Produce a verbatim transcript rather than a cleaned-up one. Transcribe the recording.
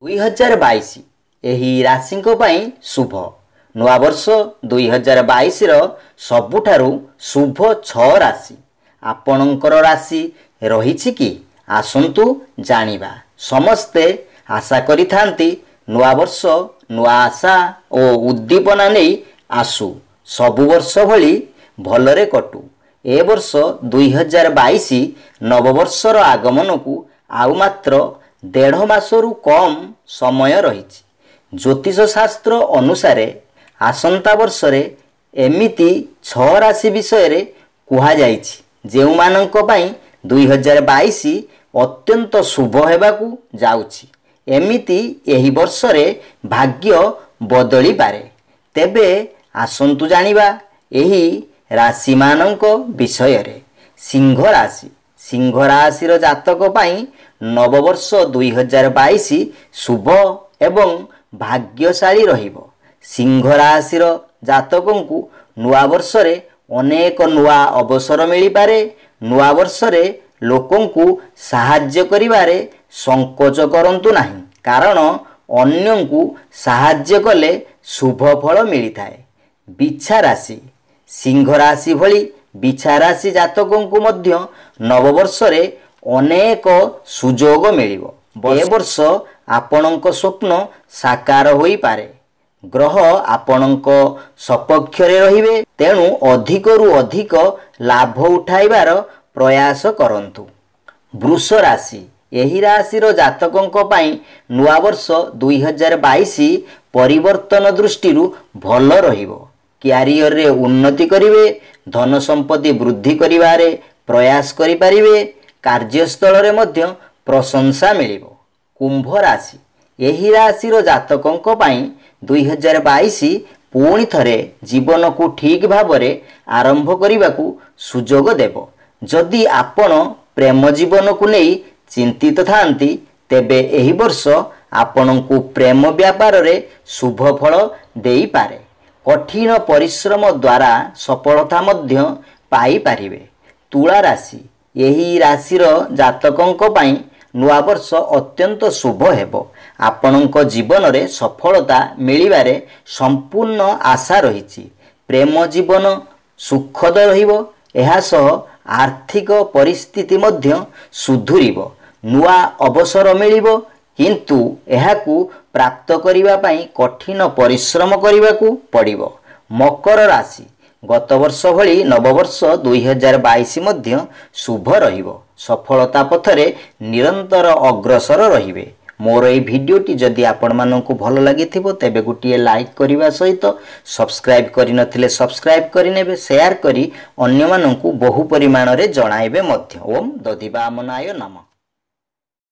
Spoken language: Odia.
ଦୁଇ ହଜାର ବାଇଶ ଏହି ରାଶିଙ୍କ ପାଇଁ ଶୁଭ। ନୂଆବର୍ଷ ଦୁଇ ହଜାର ବାଇଶର ସବୁଠାରୁ ଶୁଭ ଛଅ ରାଶି। ଆପଣଙ୍କର ରାଶି ରହିଛି କି? ଆସନ୍ତୁ ଜାଣିବା। ସମସ୍ତେ ଆଶା କରିଥାନ୍ତି ନୂଆବର୍ଷ ନୂଆ ଆଶା ଓ ଉଦ୍ଦୀପନା ନେଇ ଆସୁ, ସବୁ ବର୍ଷ ଭଳି ଭଲରେ କଟୁ। ଏ ବର୍ଷ ଦୁଇ ହଜାର ବାଇଶ ନବବର୍ଷର ଆଗମନକୁ ଆଉ ମାତ୍ର ଦେଢ଼ ମାସରୁ କମ୍ ସମୟ ରହିଛି। ଜ୍ୟୋତିଷ ଶାସ୍ତ୍ର ଅନୁସାରେ ଆସନ୍ତା ବର୍ଷରେ ଏମିତି ଛଅ ରାଶି ବିଷୟରେ କୁହାଯାଇଛି, ଯେଉଁମାନଙ୍କ ପାଇଁ ଦୁଇ ହଜାର ବାଇଶ ଅତ୍ୟନ୍ତ ଶୁଭ ହେବାକୁ ଯାଉଛି। ଏମିତି ଏହି ବର୍ଷରେ ଭାଗ୍ୟ ବଦଳିପାରେ। ତେବେ ଆସନ୍ତୁ ଜାଣିବା ଏହି ରାଶିମାନଙ୍କ ବିଷୟରେ। ସିଂହ ରାଶି। ସିଂହ ରାଶିର ଜାତକ ପାଇଁ ନବବର୍ଷ ଦୁଇ ହଜାର ବାଇଶ ଶୁଭ ଏବଂ ଭାଗ୍ୟଶାଳୀ ରହିବ। ସିଂହ ରାଶିର ଜାତକଙ୍କୁ ନୂଆବର୍ଷରେ ଅନେକ ନୂଆ ଅବସର ମିଳିପାରେ। ନୂଆବର୍ଷରେ ଲୋକଙ୍କୁ ସାହାଯ୍ୟ କରିବାରେ ସଂକୋଚ କରନ୍ତୁ ନାହିଁ, କାରଣ ଅନ୍ୟଙ୍କୁ ସାହାଯ୍ୟ କଲେ ଶୁଭ ଫଳ ମିଳିଥାଏ। ବିଛା ରାଶି। ସିଂହ ରାଶି ଭଳି ବିଛା ରାଶି ଜାତକଙ୍କୁ ମଧ୍ୟ ନବବର୍ଷରେ ଅନେକ ସୁଯୋଗ ମିଳିବ। ଏ ବର୍ଷ ଆପଣଙ୍କ ସ୍ୱପ୍ନ ସାକାର ହୋଇପାରେ। ଗ୍ରହ ଆପଣଙ୍କ ସପକ୍ଷରେ ରହିବେ, ତେଣୁ ଅଧିକରୁ ଅଧିକ ଲାଭ ଉଠାଇବାର ପ୍ରୟାସ କରନ୍ତୁ। ବୃଷ ରାଶି। ଏହି ରାଶିର ଜାତକଙ୍କ ପାଇଁ ନୂଆବର୍ଷ ଦୁଇ ହଜାର ବାଇଶ ପରିବର୍ତ୍ତନ ଦୃଷ୍ଟିରୁ ଭଲ ରହିବ। କ୍ୟାରିୟରରେ ଉନ୍ନତି କରିବେ, ଧନ ସମ୍ପତ୍ତି ବୃଦ୍ଧି କରିବାରେ ପ୍ରୟାସ କରିପାରିବେ। କାର୍ଯ୍ୟସ୍ଥଳରେ ମଧ୍ୟ ପ୍ରଶଂସା ମିଳିବ। କୁମ୍ଭ ରାଶି। ଏହି ରାଶିର ଜାତକଙ୍କ ପାଇଁ ଦୁଇ ହଜାର ବାଇଶ ପୁଣି ଥରେ ଜୀବନକୁ ଠିକ୍ ଭାବରେ ଆରମ୍ଭ କରିବାକୁ ସୁଯୋଗ ଦେବ। ଯଦି ଆପଣ ପ୍ରେମ ଜୀବନକୁ ନେଇ ଚିନ୍ତିତ ଥାନ୍ତି, ତେବେ ଏହି ବର୍ଷ ଆପଣଙ୍କୁ ପ୍ରେମ ବ୍ୟାପାରରେ ଶୁଭ ଫଳ ଦେଇପାରେ। କଠିନ ପରିଶ୍ରମ ଦ୍ୱାରା ସଫଳତା ମଧ୍ୟ ପାଇପାରିବେ। ତୁଳା ରାଶି। ଏହି ରାଶିର ଜାତକଙ୍କ ପାଇଁ ନୂଆବର୍ଷ ଅତ୍ୟନ୍ତ ଶୁଭ ହେବ। ଆପଣଙ୍କ ଜୀବନରେ ସଫଳତା ମିଳିବାରେ ସମ୍ପୂର୍ଣ୍ଣ ଆଶା ରହିଛି। ପ୍ରେମ ଜୀବନ ସୁଖଦ ରହିବ। ଏହା ସହ ଆର୍ଥିକ ପରିସ୍ଥିତି ମଧ୍ୟ ସୁଧୁରିବ। ନୂଆ ଅବସର ମିଳିବ, କିନ୍ତୁ ଏହାକୁ ପ୍ରାପ୍ତ କରିବା ପାଇଁ କଠିନ ପରିଶ୍ରମ କରିବାକୁ ପଡ଼ିବ। ମକର ରାଶି। ଗତ ବର୍ଷ ଭଳି ନବବର୍ଷ ଦୁଇ ହଜାର ବାଇଶ ମଧ୍ୟ ଶୁଭ ରହିବ। ସଫଳତା ପଥରେ ନିରନ୍ତର ଅଗ୍ରସର ରହିବେ। ମୋର ଏହି ଭିଡ଼ିଓଟି ଯଦି ଆପଣମାନଙ୍କୁ ଭଲ ଲାଗିଥିବ, ତେବେ ଗୋଟିଏ ଲାଇକ୍ କରିବା ସହିତ ସବସ୍କ୍ରାଇବ୍ କରିନଥିଲେ ସବସ୍କ୍ରାଇବ୍ କରିନେବେ, ସେୟାର କରି ଅନ୍ୟମାନଙ୍କୁ ବହୁ ପରିମାଣରେ ଜଣାଇବେ ମଧ୍ୟ। ଓମ୍ ଦଧିବାମନାୟ ନମଃ।